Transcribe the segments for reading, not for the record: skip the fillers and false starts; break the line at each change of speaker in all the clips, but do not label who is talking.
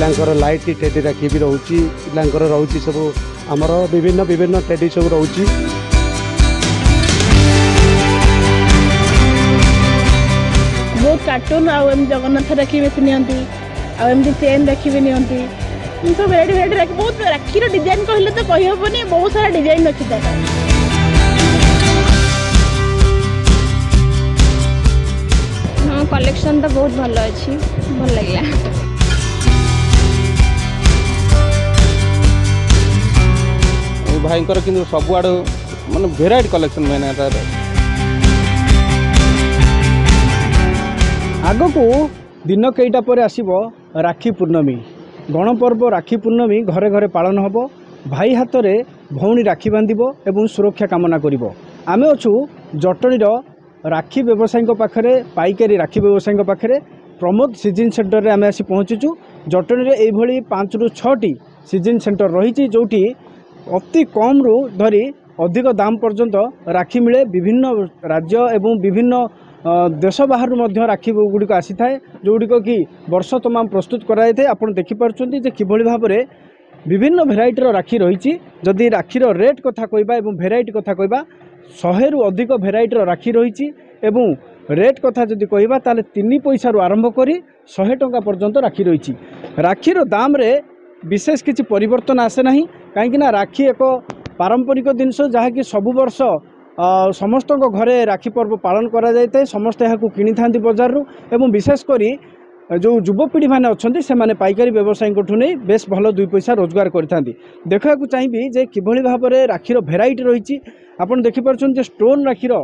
ପିଲାଙ୍କର light teddy rakhi ବି ରହୁଛି। ପିଲାଙ୍କର ରହୁଛି ସବୁ ଆମର ବିଭିନ୍ନ ବିଭିନ୍ନ ଟେଡି ସବୁ ରହୁଛି।
ବହୁତ କାର୍ଟୁନ୍ ଆଉ ଏମିତି ଜଗନ୍ନାଥ ରାକ୍ଷୀ ବେଶୀ ନିଅନ୍ତି, ଆଉ ଏମିତି ଚେନ୍ ରାକ୍ଷୀ ବି ନିଅନ୍ତି। ସବୁ ଭେରାଇଟି ଭେରାଇଟି ରାକ୍ଷୀ, ବହୁତ ରାକ୍ଷୀର ଡିଜାଇନ୍ କହିଲେ ତ କହିହେବନି, ବହୁତ ସାରା ଡିଜାଇନ୍ ଅଛି ତାର।
ହଁ, କଲେକ୍ସନ୍ ତ ବହୁତ ଭଲ ଅଛି, ଭଲ ଲାଗିଲା।
ଭାଇଙ୍କର କିନ୍ତୁ ସବୁଆଡ଼ୁ ମାନେ ଭେରାଇଟି କଲେକ୍ସନ୍ ମେନ୍ ତାର।
ଆଗକୁ ଦିନ କେଇଟା ପରେ ଆସିବ ରାକ୍ଷୀ ପୂର୍ଣ୍ଣମୀ, ଗଣପର୍ବ ରାକ୍ଷୀ ପୂର୍ଣ୍ଣମୀ ଘରେ ଘରେ ପାଳନ ହେବ। ଭାଇ ହାତରେ ଭଉଣୀ ରାକ୍ଷୀ ବାନ୍ଧିବ ଏବଂ ସୁରକ୍ଷା କାମନା କରିବ। ଆମେ ଅଛୁ ଜଟଣୀର ରାକ୍ଷୀ ବ୍ୟବସାୟୀଙ୍କ ପାଖରେ, ପାଇକାରୀ ରାକ୍ଷୀ ବ୍ୟବସାୟୀଙ୍କ ପାଖରେ ପ୍ରମୋଦ ସିଜିନ୍ ସେଣ୍ଟରରେ ଆମେ ଆସି ପହଞ୍ଚିଛୁ। ଜଟଣୀରେ ଏଇଭଳି 5ରୁ 6ଟି ସିଜିନ୍ ସେଣ୍ଟର ରହିଛି, ଯେଉଁଠି ଅତି କମ୍ରୁ ଧରି ଅଧିକ ଦାମ ପର୍ଯ୍ୟନ୍ତ ରାକ୍ଷୀ ମିଳେ। ବିଭିନ୍ନ ରାଜ୍ୟ ଏବଂ ବିଭିନ୍ନ ଦେଶ ବାହାରୁ ମଧ୍ୟ ରାକ୍ଷୀ ଗୁଡ଼ିକ ଆସିଥାଏ, ଯେଉଁଗୁଡ଼ିକ କି ବର୍ଷ ତମାମ ପ୍ରସ୍ତୁତ କରାଯାଇଥାଏ। ଆପଣ ଦେଖିପାରୁଛନ୍ତି ଯେ କିଭଳି ଭାବରେ ବିଭିନ୍ନ ଭେରାଇଟିର ରାକ୍ଷୀ ରହିଛି। ଯଦି ରାକ୍ଷୀର ରେଟ୍ କଥା କହିବା ଏବଂ ଭେରାଇଟି କଥା କହିବା, 100ରୁ ଅଧିକ ଭେରାଇଟିର ରାକ୍ଷୀ ରହିଛି ଏବଂ ରେଟ୍ କଥା ଯଦି କହିବା ତାହେଲେ 3 ପଇସାରୁ ଆରମ୍ଭ କରି 100 ଟଙ୍କା ପର୍ଯ୍ୟନ୍ତ ରାକ୍ଷୀ ରହିଛି। ରାକ୍ଷୀର ଦାମରେ ବିଶେଷ କିଛି ପରିବର୍ତ୍ତନ ଆସେ ନାହିଁ, କାହିଁକିନା ରାକ୍ଷୀ ଏକ ପାରମ୍ପରିକ ଜିନିଷ, ଯାହାକି ସବୁ ବର୍ଷ ସମସ୍ତଙ୍କ ଘରେ ରାକ୍ଷୀ ପର୍ବ ପାଳନ କରାଯାଇଥାଏ। ସମସ୍ତେ ଏହାକୁ କିଣିଥାନ୍ତି ବଜାରରୁ ଏବଂ ବିଶେଷ କରି ଯେଉଁ ଯୁବପିଢ଼ିମାନେ ଅଛନ୍ତି ସେମାନେ ପାଇକାରୀ ବ୍ୟବସାୟୀଙ୍କଠୁ ନେଇ ବେଶ ଭଲ 2 ପଇସା ରୋଜଗାର କରିଥାନ୍ତି। ଦେଖିବାକୁ ଚାହିଁବି ଯେ କିଭଳି ଭାବରେ ରାକ୍ଷୀର ଭେରାଇଟି ରହିଛି। ଆପଣ ଦେଖିପାରୁଛନ୍ତି ଯେ ଷ୍ଟୋନ୍ ରାକ୍ଷୀର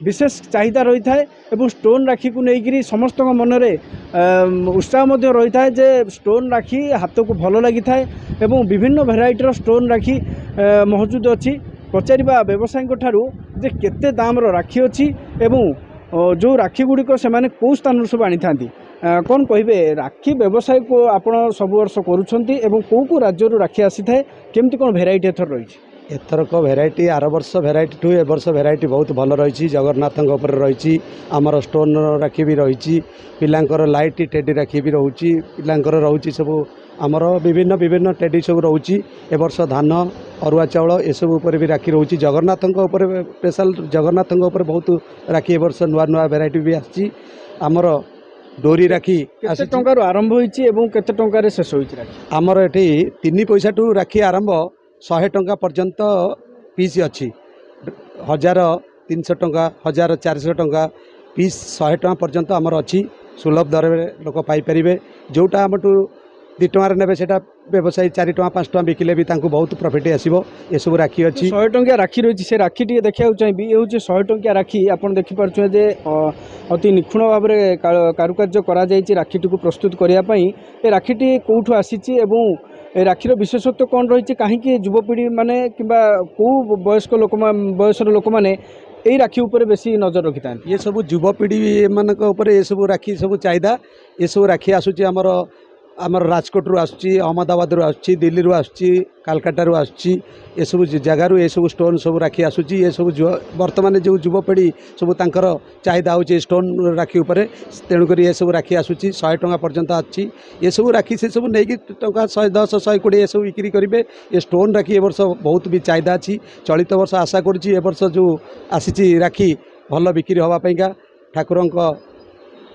ବିଶେଷ ଚାହିଦା ରହିଥାଏ ଏବଂ ଷ୍ଟୋନ୍ ରାକ୍ଷୀକୁ ନେଇକରି ସମସ୍ତଙ୍କ ମନରେ ଉତ୍ସାହ ମଧ୍ୟ ରହିଥାଏ ଯେ ଷ୍ଟୋନ୍ ରାକ୍ଷୀ ହାତକୁ ଭଲ ଲାଗିଥାଏ ଏବଂ ବିଭିନ୍ନ ଭେରାଇଟିର ଷ୍ଟୋନ୍ ରାକ୍ଷୀ ମହଜୁଦ ଅଛି। ପଚାରିବା ବ୍ୟବସାୟୀଙ୍କ ଠାରୁ ଯେ କେତେ ଦାମର ରାକ୍ଷୀ ଅଛି ଏବଂ ଯେଉଁ ରାକ୍ଷୀ ଗୁଡ଼ିକ ସେମାନେ କେଉଁ ସ୍ଥାନରୁ ସବୁ ଆଣିଥାନ୍ତି। କ'ଣ କହିବେ, ରାକ୍ଷୀ ବ୍ୟବସାୟକୁ ଆପଣ ସବୁ ବର୍ଷ କରୁଛନ୍ତି ଏବଂ କେଉଁ କେଉଁ ରାଜ୍ୟରୁ ରାକ୍ଷୀ ଆସିଥାଏ, କେମିତି କ'ଣ ଭେରାଇଟି ଏଥର ରହିଛି?
ଏଥରକ ଭେରାଇଟି ଆର ବର୍ଷ ଭେରାଇଟିଠୁ ଏ ବର୍ଷ ଭେରାଇଟି ବହୁତ ଭଲ ରହିଛି। ଜଗନ୍ନାଥଙ୍କ ଉପରେ ରହିଛି, ଆମର ଷ୍ଟୋନ୍ ରାକ୍ଷୀ ବି ରହିଛି, ପିଲାଙ୍କର ଲାଇଟ୍ ଟେଡି ରାକ୍ଷୀ ବି ରହୁଛି, ପିଲାଙ୍କର ରହୁଛି ସବୁ ଆମର ବିଭିନ୍ନ ବିଭିନ୍ନ ଟେଡି ସବୁ ରହୁଛି। ଏ ବର୍ଷ ଧାନ, ଅରୁଆ ଚାଉଳ ଏସବୁ ଉପରେ ବି ରାକ୍ଷୀ ରହୁଛି। ଜଗନ୍ନାଥଙ୍କ ଉପରେ ସ୍ପେଶାଲ, ଜଗନ୍ନାଥଙ୍କ ଉପରେ ବହୁତ ରାକ୍ଷୀ ଏ ବର୍ଷ ନୂଆ ନୂଆ ଭେରାଇଟି ବି ଆସିଛି। ଆମର ଡୋରି ରାକ୍ଷୀ
କେତେ ଟଙ୍କାରୁ ଆରମ୍ଭ ହୋଇଛି ଏବଂ କେତେ ଟଙ୍କାରେ ଶେଷ ହୋଇଛି ରାକ୍ଷୀ?
ଆମର ଏଠି 3 ପଇସାଠୁ ରାକ୍ଷୀ ଆରମ୍ଭ, 100 ଟଙ୍କା ପର୍ଯ୍ୟନ୍ତ ପିସ୍ ଅଛି। 1300 ଟଙ୍କା, 1400 ଟଙ୍କା ପିସ୍, 100 ଟଙ୍କା ପର୍ଯ୍ୟନ୍ତ ଆମର ଅଛି। ସୁଲଭ ଦରରେ ଲୋକ ପାଇପାରିବେ। ଯେଉଁଟା ଆମଠୁ 2 ଟଙ୍କାରେ ନେବେ ସେଇଟା ବ୍ୟବସାୟୀ 4 ଟଙ୍କା 5 ଟଙ୍କା ବିକିଲେ ବି ତାଙ୍କୁ ବହୁତ ପ୍ରଫିଟ୍ ଆସିବ। ଏସବୁ ରାକ୍ଷୀ ଅଛି।
100 ଟଙ୍କିଆ ରାକ୍ଷୀ ରହିଛି, ସେ ରାକ୍ଷୀ ଟିକେ ଦେଖିବାକୁ ଚାହିଁବି। ଏ ହେଉଛି 100 ଟଙ୍କିଆ ରାକ୍ଷୀ। ଆପଣ ଦେଖିପାରୁଛନ୍ତି ଯେ ଅତି ନିଖୁଣ ଭାବରେ କାରୁକାର୍ଯ୍ୟ କରାଯାଇଛି ରାକ୍ଷୀଟିକୁ ପ୍ରସ୍ତୁତ କରିବା ପାଇଁ। ଏ ରାକ୍ଷୀଟି କେଉଁଠୁ ଆସିଛି ଏବଂ ଏ ରାକ୍ଷୀର ବିଶେଷତ୍ୱ କ'ଣ ରହିଛି, କାହିଁକି ଯୁବପିଢ଼ି ମାନେ କିମ୍ବା କେଉଁ ବୟସ୍କ ଲୋକ ବୟସର ଲୋକମାନେ ଏଇ ରାକ୍ଷୀ ଉପରେ ବେଶୀ ନଜର ରଖିଥାନ୍ତି?
ଏସବୁ ଯୁବପିଢ଼ି ମାନଙ୍କ ଉପରେ ଏସବୁ ରାକ୍ଷୀ ସବୁ ଚାହିଦା। ଏସବୁ ରାକ୍ଷୀ ଆସୁଛି ଆମର ରାଜକୋଟରୁ ଆସୁଛି, ଅହମ୍ମଦାବାଦରୁ ଆସୁଛି, ଦିଲ୍ଲୀରୁ ଆସୁଛି, କାଲକାଟାରୁ ଆସୁଛି। ଏସବୁ ଜାଗାରୁ ଏସବୁ ଷ୍ଟୋନ୍ ସବୁ ରାକ୍ଷୀ ଆସୁଛି। ଏସବୁ ବର୍ତ୍ତମାନ ଯେଉଁ ଯୁବପିଢ଼ି ସବୁ ତାଙ୍କର ଚାହିଦା ହେଉଛି ଷ୍ଟୋନ୍ ରାକ୍ଷୀ ଉପରେ, ତେଣୁକରି ଏସବୁ ରାକ୍ଷୀ ଆସୁଛି। 100 ଟଙ୍କା ପର୍ଯ୍ୟନ୍ତ ଆସୁଛି ଏସବୁ ରାକ୍ଷୀ। ସେସବୁ ନେଇକି ଟଙ୍କା 110, 120 ଏସବୁ ବିକ୍ରି କରିବେ। ଏ ଷ୍ଟୋନ୍ ରାକ୍ଷୀ ଏ ବର୍ଷ ବହୁତ ବି ଚାହିଦା ଅଛି। ଚଳିତ ବର୍ଷ ଆଶା କରୁଛି ଏ ବର୍ଷ ଯେଉଁ ଆସିଛି ରାକ୍ଷୀ ଭଲ ବିକ୍ରି ହେବା ପାଇଁକା। ଠାକୁରଙ୍କ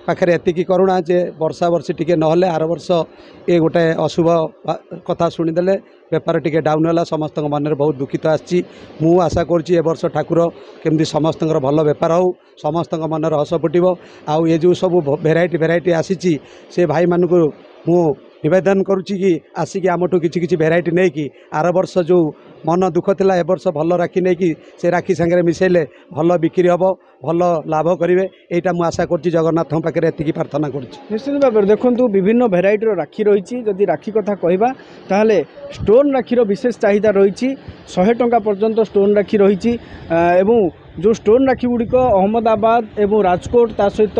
ପାଖରେ ଏତିକି କରୁଣା ଯେ ବର୍ଷା ବର୍ଷି ଟିକେ ନହେଲେ, ଆର ବର୍ଷ ଏ ଗୋଟେ ଅଶୁଭ କଥା ଶୁଣିଦେଲେ ବେପାର ଟିକେ ଡାଉନ୍ ହେଲା, ସମସ୍ତଙ୍କ ମନରେ ବହୁତ ଦୁଃଖିତ ଆସିଛି। ମୁଁ ଆଶା କରୁଛି ଏ ବର୍ଷ ଠାକୁର କେମିତି ସମସ୍ତଙ୍କର ଭଲ ବେପାର ହେଉ, ସମସ୍ତଙ୍କ ମନରେ ହସ ଫୁଟିବ। ଆଉ ଏ ଯେଉଁ ସବୁ ଭେରାଇଟି ଭେରାଇଟି ଆସିଛି ସେ ଭାଇମାନଙ୍କୁ ମୁଁ ନିବେଦନ କରୁଛି କି ଆସିକି ଆମଠୁ କିଛି କିଛି ଭେରାଇଟି ନେଇକି ଆର ବର୍ଷ ଯେଉଁ ମନ ଦୁଃଖ ଥିଲା ଏ ବର୍ଷ ଭଲ ରାକ୍ଷୀ ନେଇକି ସେ ରାକ୍ଷୀ ସାଙ୍ଗରେ ମିଶାଇଲେ ଭଲ ବିକ୍ରି ହେବ, ଭଲ ଲାଭ କରିବେ। ଏଇଟା ମୁଁ ଆଶା କରୁଛି, ଜଗନ୍ନାଥଙ୍କ ପାଖରେ ଏତିକି ପ୍ରାର୍ଥନା କରୁଛି।
ନିଶ୍ଚିତ ଭାବରେ ଦେଖନ୍ତୁ ବିଭିନ୍ନ ଭେରାଇଟିର ରାକ୍ଷୀ ରହିଛି। ଯଦି ରାକ୍ଷୀ କଥା କହିବା ତାହେଲେ ଷ୍ଟୋନ୍ ରାକ୍ଷୀର ବିଶେଷ ଚାହିଦା ରହିଛି। 100 ଟଙ୍କା ପର୍ଯ୍ୟନ୍ତ ଷ୍ଟୋନ୍ ରାକ୍ଷୀ ରହିଛି ଏବଂ ଯେଉଁ ଷ୍ଟୋନ୍ ରାକ୍ଷୀ ଗୁଡ଼ିକ ଅହମ୍ମଦାବାଦ ଏବଂ ରାଜକୋଟ, ତା ସହିତ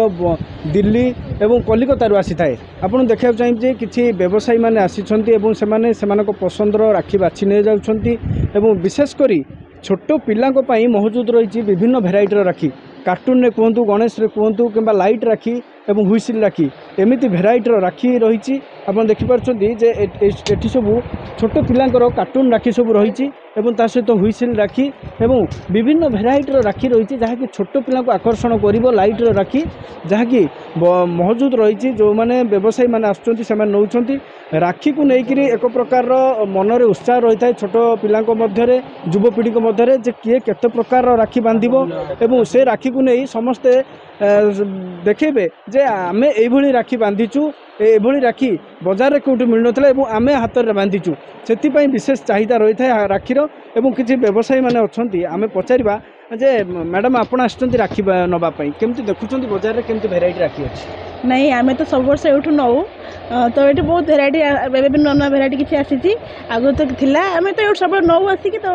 ଦିଲ୍ଲୀ ଏବଂ କଲିକତାରୁ ଆସିଥାଏ। ଆପଣ ଦେଖିବାକୁ ଚାହିଁବେ ଯେ କିଛି ବ୍ୟବସାୟୀମାନେ ଆସିଛନ୍ତି ଏବଂ ସେମାନେ ସେମାନଙ୍କ ପସନ୍ଦର ରାକ୍ଷୀ ବାଛି ନେଇଯାଉଛନ୍ତି ଏବଂ ବିଶେଷ କରି ଛୋଟ ପିଲାଙ୍କ ପାଇଁ ମହଜୁଦ ରହିଛି ବିଭିନ୍ନ ଭେରାଇଟିର ରାକ୍ଷୀ। କାର୍ଟୁନରେ କୁହନ୍ତୁ, ଗଣେଶରେ କୁହନ୍ତୁ କିମ୍ବା ଲାଇଟ୍ ରାକ୍ଷୀ ଏବଂ ହୁଇସିଲ୍ ରାକ୍ଷୀ, ଏମିତି ଭେରାଇଟିର ରାକ୍ଷୀ ରହିଛି। ଆପଣ ଦେଖିପାରୁଛନ୍ତି ଯେ ଏଠି ସବୁ ଛୋଟ ପିଲାଙ୍କର କାର୍ଟୁନ୍ ରାକ୍ଷୀ ସବୁ ରହିଛି ଏବଂ ତା ସହିତ ହୁଇସିଲ୍ ରାକ୍ଷୀ ଏବଂ ବିଭିନ୍ନ ଭେରାଇଟିର ରାକ୍ଷୀ ରହିଛି, ଯାହାକି ଛୋଟ ପିଲାଙ୍କୁ ଆକର୍ଷଣ କରିବ। ଲାଇଟ୍ର ରାକ୍ଷୀ ଯାହାକି ମହଜୁଦ ରହିଛି। ଯେଉଁମାନେ ବ୍ୟବସାୟୀମାନେ ଆସୁଛନ୍ତି, ସେମାନେ ନେଉଛନ୍ତି। ରାକ୍ଷୀକୁ ନେଇକରି ଏକ ପ୍ରକାରର ମନରେ ଉତ୍ସାହ ରହିଥାଏ ଛୋଟ ପିଲାଙ୍କ ମଧ୍ୟରେ, ଯୁବପିଢ଼ିଙ୍କ ମଧ୍ୟରେ, ଯେ କିଏ କେତେ ପ୍ରକାରର ରାକ୍ଷୀ ବାନ୍ଧିବ ଏବଂ ସେ ରାକ୍ଷୀକୁ ନେଇ ସମସ୍ତେ ଦେଖେଇବେ ଯେ ଆମେ ଏଇଭଳି ରାକ୍ଷୀ ବାନ୍ଧିଛୁ, ଏଭଳି ରାକ୍ଷୀ ବଜାରରେ କେଉଁଠି ମିଳୁନଥିଲା ଏବଂ ଆମେ ହାତରେ ବାନ୍ଧିଛୁ। ସେଥିପାଇଁ ବିଶେଷ ଚାହିଦା ରହିଥାଏ ରାକ୍ଷୀର। ଏବଂ କିଛି ବ୍ୟବସାୟୀମାନେ ଅଛନ୍ତି, ଆମେ ପଚାରିବା ଯେ ମ୍ୟାଡ଼ାମ୍, ଆପଣ ଆସିଛନ୍ତି ରାକ୍ଷୀ ନେବା ପାଇଁ, କେମିତି ଦେଖୁଛନ୍ତି ବଜାରରେ, କେମିତି ଭେରାଇଟି ରାକ୍ଷୀ ଅଛି?
ନାଇଁ, ଆମେ ତ ସବୁ ବର୍ଷ ଏଇଠୁ ନେଉ। ତ ଏଇଠି ବହୁତ ଭେରାଇଟି, ଏବେ ବି ନୂଆ ନୂଆ ଭେରାଇଟି କିଛି ଆସିଛି, ଆଗରୁ ତ ଥିଲା। ଆମେ ତ ଏଇଠୁ ସବୁବେଳେ ନେଉ ଆସିକି। ତ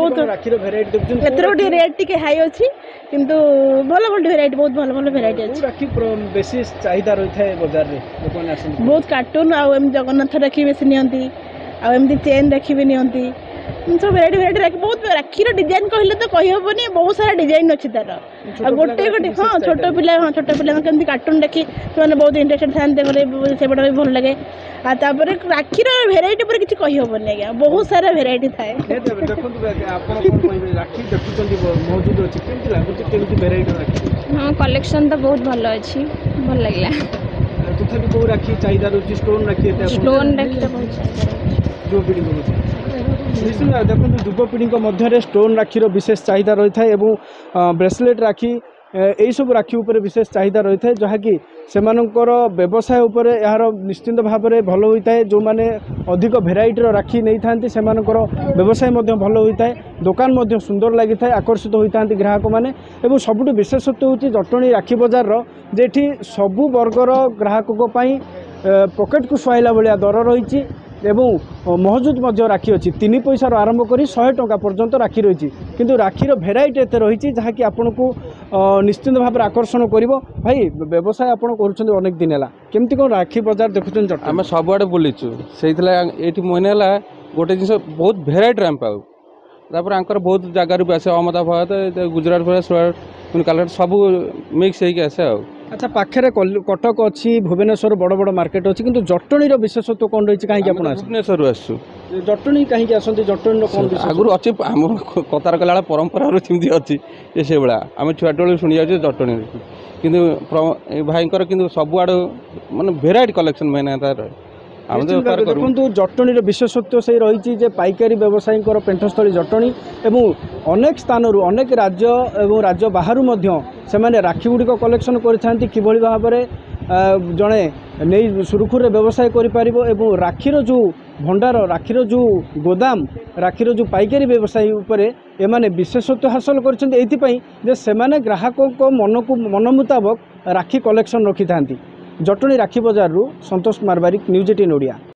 ବହୁତ
ରାକ୍ଷୀର ଭେରାଇଟି ଦେଖୁଛନ୍ତି?
ଏଥର ଟିକେ ରେଟ୍ ଟିକେ ହାଇ ଅଛି, କିନ୍ତୁ ଭଲ ଭଲ ଭେରାଇଟି, ବହୁତ ଭଲ ଭଲ ଭେରାଇଟି ଅଛି।
ରାକ୍ଷୀ ବେଶୀ ଚାହିଦା ରହିଥାଏ ବଜାରରେ, ଲୋକମାନେ ଆସନ୍ତି?
ବହୁତ କାର୍ଟୁନ୍ ଆଉ ଏମିତି ଜଗନ୍ନାଥ ରାକ୍ଷୀ ବେଶୀ ନିଅନ୍ତି, ଆଉ ଏମିତି ଚେନ୍ ରାକ୍ଷୀ ବି ନିଅନ୍ତି। ସବୁ ଭେରାଇଟି ଭେରାଇଟି ରାକ୍ଷୀ, ବହୁତ ରାକ୍ଷୀର ଡିଜାଇନ୍ କହିଲେ ତ କହିହେବନି, ବହୁତ ସାରା ଡିଜାଇନ୍ ଅଛି ତାର। ଆଉ ଗୋଟେ ଗୋଟେ, ହଁ, ଛୋଟ ପିଲା, ହଁ, ଛୋଟ ପିଲାଙ୍କ କେମିତି କାର୍ଟୁନ୍ ରାକ୍ଷୀ, ସେମାନେ ବହୁତ ଇଣ୍ଟରେଷ୍ଟେଡ଼ ଥାନ୍ତି, ସେଗୁଡ଼ା ବି ଭଲ ଲାଗେ। ଆଉ ତାପରେ ରାକ୍ଷୀର ଭେରାଇଟି ଉପରେ କିଛି କହିହେବନି ଆଜ୍ଞା, ବହୁତ ସାରା ଭେରାଇଟି ଥାଏ।
ଦେଖନ୍ତୁ, ଆପଣ କ'ଣ କହିବେ? ରାକ୍ଷୀ ଦେଖୁଛନ୍ତି, ମହଜୁଦ ଅଛି, କେମିତି ଲାଗୁଛି, କେମିତି ଭେରାଇଟି ରାକ୍ଷୀ?
ହଁ, କଲେକ୍ସନ୍ ତ ବହୁତ ଭଲ ଅଛି, ଭଲ ଲାଗିଲା।
ତଥାପି କେଉଁ ରାକ୍ଷୀ ଚାହିଦା ରହୁଛି? ଷ୍ଟୋନ୍ ରାକ୍ଷୀ ଏତେ?
ଷ୍ଟୋନ୍ ରାକ୍ଷୀ ତ ବହୁତ ଚାହିଦା ରହୁଛି
ଯୁବପିଢ଼ିଙ୍କ ମଧ୍ୟରେ। ନିଶ୍ଚିତ ଦେଖନ୍ତୁ, ଯୁବପିଢ଼ିଙ୍କ ମଧ୍ୟରେ ଷ୍ଟୋନ୍ ରାକ୍ଷୀର ବିଶେଷ ଚାହିଦା ରହିଥାଏ ଏବଂ ବ୍ରେସଲେଟ୍ ରାକ୍ଷୀ, ଏଇସବୁ ରାକ୍ଷୀ ଉପରେ ବିଶେଷ ଚାହିଦା ରହିଥାଏ, ଯାହାକି ସେମାନଙ୍କର ବ୍ୟବସାୟ ଉପରେ ଏହାର ନିଶ୍ଚିନ୍ତ ଭାବରେ ଭଲ ହୋଇଥାଏ। ଯେଉଁମାନେ ଅଧିକ ଭେରାଇଟିର ରାକ୍ଷୀ ନେଇଥାନ୍ତି, ସେମାନଙ୍କର ବ୍ୟବସାୟ ମଧ୍ୟ ଭଲ ହୋଇଥାଏ, ଦୋକାନ ମଧ୍ୟ ସୁନ୍ଦର ଲାଗିଥାଏ, ଆକର୍ଷିତ ହୋଇଥାନ୍ତି ଗ୍ରାହକମାନେ। ଏବଂ ସବୁଠୁ ବିଶେଷତ୍ୱ ହେଉଛି ଜଟଣୀ ରାକ୍ଷୀ ବଜାରର ଯେ ଏଠି ସବୁ ବର୍ଗର ଗ୍ରାହକଙ୍କ ପାଇଁ ପକେଟକୁ ସୁହାଇଲା ଭଳିଆ ଦର ରହିଛି ଏବଂ ମହଜୁଦ ମଧ୍ୟ ରାକ୍ଷୀ ଅଛି। 3 ପଇସାରୁ ଆରମ୍ଭ କରି 100 ଟଙ୍କା ପର୍ଯ୍ୟନ୍ତ ରାକ୍ଷୀ ରହିଛି, କିନ୍ତୁ ରାକ୍ଷୀର ଭେରାଇଟି ଏତେ ରହିଛି ଯାହାକି ଆପଣଙ୍କୁ ନିଶ୍ଚିନ୍ତ ଭାବରେ ଆକର୍ଷଣ କରିବ। ଭାଇ, ବ୍ୟବସାୟ ଆପଣ କରୁଛନ୍ତି ଅନେକ ଦିନ ହେଲା, କେମିତି କ'ଣ ରାକ୍ଷୀ ବଜାର ଦେଖୁଛନ୍ତି?
ଆମେ ସବୁଆଡ଼େ ବୁଲିଛୁ, ସେଇଥିଲାଗି ଏଇଠି ମନେ ହେଲା ଗୋଟେ ଜିନିଷ, ବହୁତ ଭେରାଇଟିର ଆମେ ପାଉ। ତାପରେ ଆଙ୍କର ବହୁତ ଜାଗାରୁ ବି ଆସେ, ଅହମ୍ମଦାବାଦ, ଗୁଜୁରାଟ, ସୁରାଟ, କାଲକାଟା, ସବୁ ମିକ୍ସ ହେଇକି ଆସେ। ଆଉ
ଆଚ୍ଛା, ପାଖରେ କଟକ ଅଛି, ଭୁବନେଶ୍ୱର, ବଡ଼ ବଡ଼ ମାର୍କେଟ ଅଛି, କିନ୍ତୁ ଜଟଣୀର ବିଶେଷତ୍ୱ କ'ଣ ରହିଛି? କାହିଁକି ଆପଣ
ଭୁବନେଶ୍ୱରରୁ ଆସୁଛୁ?
ଜଟଣୀ କାହିଁକି ଆସନ୍ତି? ଜଟଣୀର କ'ଣ
ଆଗରୁ ଅଛି? ଆମ କଥାର କଲା ବେଳେ ପରମ୍ପରାରୁ ଯେମିତି ଅଛି ଯେ ସେଇଭଳିଆ ଆମେ ଛୁଆଟବେଳୁ ଶୁଣି ଯାଉଛୁ ଜଟଣୀରୁ। କିନ୍ତୁ ଭାଇଙ୍କର କିନ୍ତୁ ସବୁଆଡ଼ୁ ମାନେ ଭେରାଇଟି କଲେକ୍ସନ୍ ମେନ୍ ତାର।
ଦେଖନ୍ତୁ, ଜଟଣୀର ବିଶେଷତ୍ୱ ସେଇ ରହିଛି ଯେ ପାଇକାରୀ ବ୍ୟବସାୟୀଙ୍କର ପେଣ୍ଠସ୍ଥଳୀ ଜଟଣୀ ଏବଂ ଅନେକ ସ୍ଥାନରୁ, ଅନେକ ରାଜ୍ୟ ଏବଂ ରାଜ୍ୟ ବାହାରୁ ମଧ୍ୟ ସେମାନେ ରାକ୍ଷୀ ଗୁଡ଼ିକ କଲେକ୍ସନ୍ କରିଥାନ୍ତି, କିଭଳି ଭାବରେ ଜଣେ ନେଇ ସୁରୁଖୁରୁରେ ବ୍ୟବସାୟ କରିପାରିବ। ଏବଂ ରାକ୍ଷୀର ଯେଉଁ ଭଣ୍ଡାର, ରାକ୍ଷୀର ଯେଉଁ ଗୋଦାମ, ରାକ୍ଷୀର ଯେଉଁ ପାଇକାରୀ ବ୍ୟବସାୟୀ ଉପରେ ଏମାନେ ବିଶେଷତ୍ୱ ହାସଲ କରିଛନ୍ତି ଏଇଥିପାଇଁ ଯେ ସେମାନେ ଗ୍ରାହକଙ୍କ ମନକୁ ମନ ମୁତାବକ ରାକ୍ଷୀ କଲେକ୍ସନ୍ ରଖିଥାନ୍ତି। ଜଟଣୀ ରାକ୍ଷୀ ବଜାରରୁ ସନ୍ତୋଷ କୁମାର ବାରିକ, ନ୍ୟୁଜ୍ 18 ଓଡ଼ିଆ।